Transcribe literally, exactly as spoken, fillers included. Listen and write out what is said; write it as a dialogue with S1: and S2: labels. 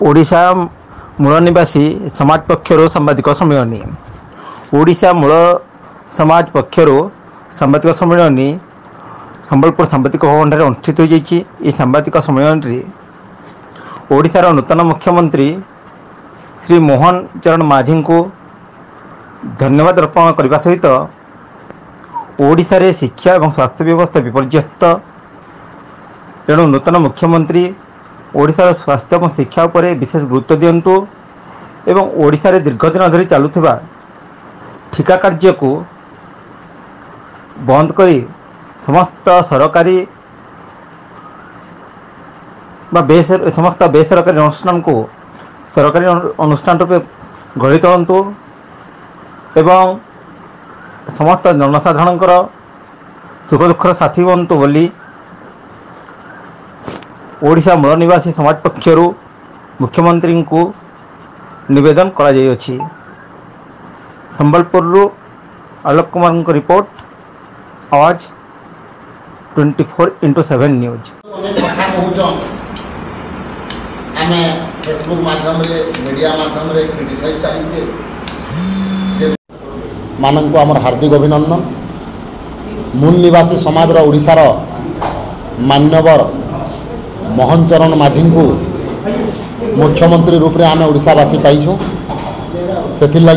S1: ଓଡ଼ିଶା ମୂଳ ନିବାସୀ ସମାଜ ପକ୍ଷରୁ ସାମ୍ବାଦିକ ସମ୍ମିଳନୀ। ଓଡ଼ିଶା ମୂଳ ସମାଜ ପକ୍ଷରୁ ସାମ୍ବାଦିକ ସମ୍ମିଳନୀ ସମ୍ବଲପୁର ସାମ୍ବାଦିକ ଭବନଠାରେ ଅନୁଷ୍ଠିତ ହୋଇଯାଇଛି। ଏହି ସାମ୍ବାଦିକ ସମ୍ମିଳନୀରେ ଓଡ଼ିଶାର ନୂତନ ମୁଖ୍ୟମନ୍ତ୍ରୀ ଶ୍ରୀ ମୋହନ ଚରଣ ମାଝୀଙ୍କୁ ଧନ୍ୟବାଦ ଅର୍ପଣ କରିବା ସହିତ ଓଡ଼ିଶାରେ ଶିକ୍ଷା ଏବଂ ସ୍ୱାସ୍ଥ୍ୟ ବ୍ୟବସ୍ଥା ବିପର୍ଯ୍ୟସ୍ତ, ତେଣୁ ନୂତନ ମୁଖ୍ୟମନ୍ତ୍ରୀ ଓଡ଼ିଶାର ସ୍ୱାସ୍ଥ୍ୟ ଏବଂ ଶିକ୍ଷା ଉପରେ ବିଶେଷ ଗୁରୁତ୍ୱ ଦିଅନ୍ତୁ ଏବଂ ଓଡ଼ିଶାରେ ଦୀର୍ଘ ଦିନ ଧରି ଚାଲୁଥିବା ଠିକା କାର୍ଯ୍ୟକୁ ବନ୍ଦ କରି ସମସ୍ତ ସରକାରୀ ବା ବେସ ସମସ୍ତ ବେସରକାରୀ ଅନୁଷ୍ଠାନକୁ ସରକାରୀ ଅନୁଷ୍ଠାନ ରୂପେ ଗଢ଼ି ତୋଳନ୍ତୁ ଏବଂ ସମସ୍ତ ଜନସାଧାରଣଙ୍କର ସୁଖ ଦୁଃଖର ସାଥୀ ହୁଅନ୍ତୁ ବୋଲି ଓଡ଼ିଶା ମୂଳ ନିବାସୀ ସମାଜ ପକ୍ଷରୁ ମୁଖ୍ୟମନ୍ତ୍ରୀଙ୍କୁ ନିବେଦନ କରାଯାଇଅଛି। ସମ୍ବଲପୁରରୁ ଆଲୋକ କୁମାରଙ୍କ report, Awaaz twenty four into seven news.
S2: ଅନେକ କଥା କହୁଛନ୍, ଆମେ ଫେସବୁକ୍ ମାଧ୍ୟମରେ, ମିଡ଼ିଆ ମାଧ୍ୟମରେ କ୍ରିଟିସାଇଜ୍ ଚାଲିଛେ ଯେ ମାନଙ୍କୁ ଆମର ହାର୍ଦ୍ଦିକ ଅଭିନନ୍ଦନ। ମୂଳ ନିବାସୀ ସମାଜର ଓଡ଼ିଶାର ମାନ୍ୟବର ମୋହନ ଚରଣ ମାଝୀଙ୍କୁ ମୁଖ୍ୟମନ୍ତ୍ରୀ ରୂପରେ ଆମେ ଓଡ଼ିଶାବାସୀ ପାଇଛୁ, ସେଥିର୍ଲାଗି